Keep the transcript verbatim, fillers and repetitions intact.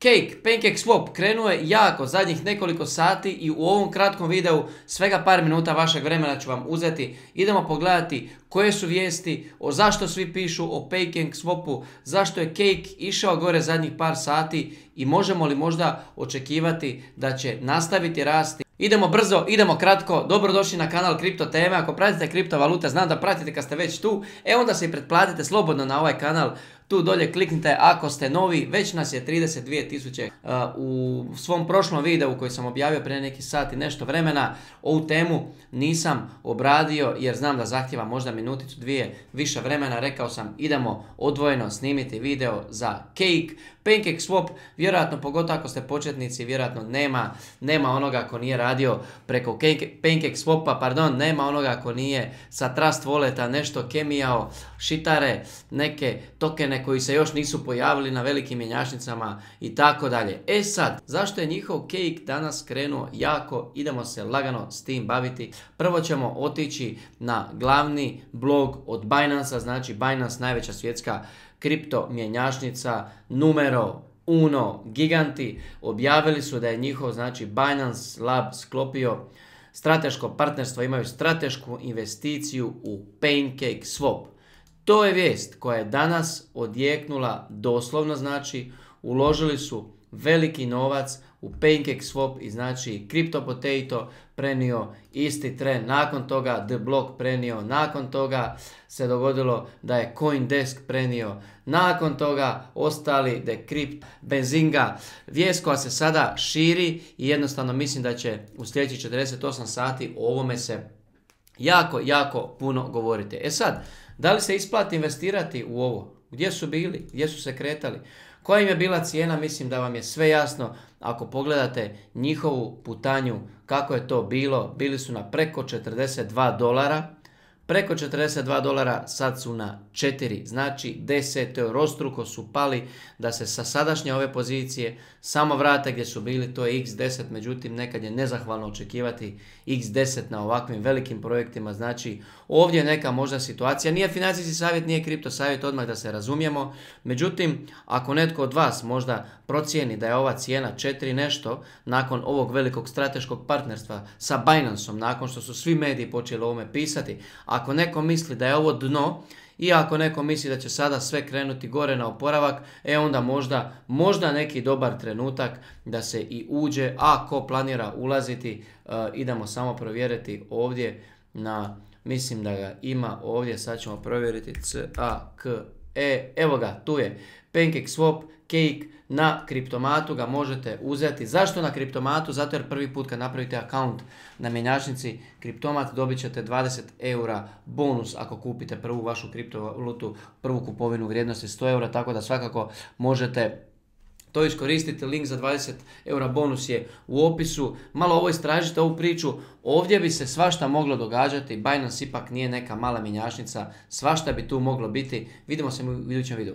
Cake, PancakeSwap krenuo je jako zadnjih nekoliko sati i u ovom kratkom videu svega par minuta vašeg vremena ću vam uzeti. Idemo pogledati koje su vijesti, o zašto svi pišu o PancakeSwapu, zašto je Cake išao gore zadnjih par sati i možemo li možda očekivati da će nastaviti rasti. Idemo brzo, idemo kratko, dobrodošli na kanal Kripto teme. Ako pratite kriptovalute, znam da pratite kad ste već tu, e onda se i pretplatite slobodno na ovaj kanal. Tu dolje kliknite ako ste novi, već nas je trideset dvije tisuće. Uh, u svom prošlom videu koji sam objavio prije neki sat i nešto vremena, ovu temu nisam obradio jer znam da zahtjeva možda minuticu, dvije više vremena. Rekao sam idemo odvojeno snimiti video za Cake. PancakeSwap, vjerojatno pogotovo ako ste početnici, vjerojatno nema, nema onoga ko nije radio preko PancakeSwapa, pardon, nema onoga ko nije sa Trust Walleta nešto kemijao, šitare, neke tokene koji se još nisu pojavili na velikim mjenjačnicama i tako dalje. E sad, zašto je njihov Cake danas krenuo jako? Idemo se lagano s tim baviti. Prvo ćemo otići na glavni blog od Binance-a, znači Binance, najveća svjetska kripto mjenjačnica, numero uno, giganti, objavili su da je njihov, znači Binance Lab sklopio strateško partnerstvo, imaju stratešku investiciju u PancakeSwap. To je vijest koja je danas odjeknula doslovno, znači uložili su veliki novac u PancakeSwap i znači CryptoPotato prenio isti trend, nakon toga The Block prenio, nakon toga se dogodilo da je CoinDesk prenio, nakon toga ostali Decrypt, Benzinga, vijest koja se sada širi i jednostavno mislim da će u sljedećih četrdeset osam sati o ovome se jako, jako puno govoriti. E sad, da li se isplati investirati u ovo? Gdje su bili? Gdje su se kretali? Koja im je bila cijena? Mislim da vam je sve jasno ako pogledate njihovu putanju kako je to bilo. Bili su na preko četrdeset dva dolara. Preko četrdeset dva dolara, sad su na četiri, znači desetorostruko su pali da se sa sadašnje ove pozicije samo vrate gdje su bili, to je iks deset, međutim nekad je nezahvalno očekivati iks deset na ovakvim velikim projektima, znači ovdje je neka možda situacija, nije financijski savjet, nije kripto savjet, odmah da se razumijemo, međutim ako netko od vas možda procijeni da je ova cijena četiri nešto nakon ovog velikog strateškog partnerstva sa Binanceom, nakon što su svi mediji počeli o ovome pisati, ako neko misli da je ovo dno i ako neko misli da će sada sve krenuti gore na oporavak, e onda možda, možda neki dobar trenutak da se i uđe, a ako planira ulaziti, uh, idemo samo provjeriti ovdje na, mislim da ga ima ovdje, sad ćemo provjeriti C A K E, evo ga, tu je PancakeSwap, Cake, na Kriptomatu ga možete uzeti. Zašto na Kriptomatu? Zato jer prvi put kad napravite account na mjenjačnici Kriptomat dobit ćete dvadeset eura bonus ako kupite prvu vašu kriptovalutu, prvu kupovinu vrijednosti sto eura, tako da svakako možete to iskoristiti. Link za dvadeset eura bonus je u opisu. Malo ovo istražite, ovu priču. Ovdje bi se svašta moglo događati. Binance ipak nije neka mala mjenjačnica. Svašta bi tu moglo biti. Vidimo se u idućem videu.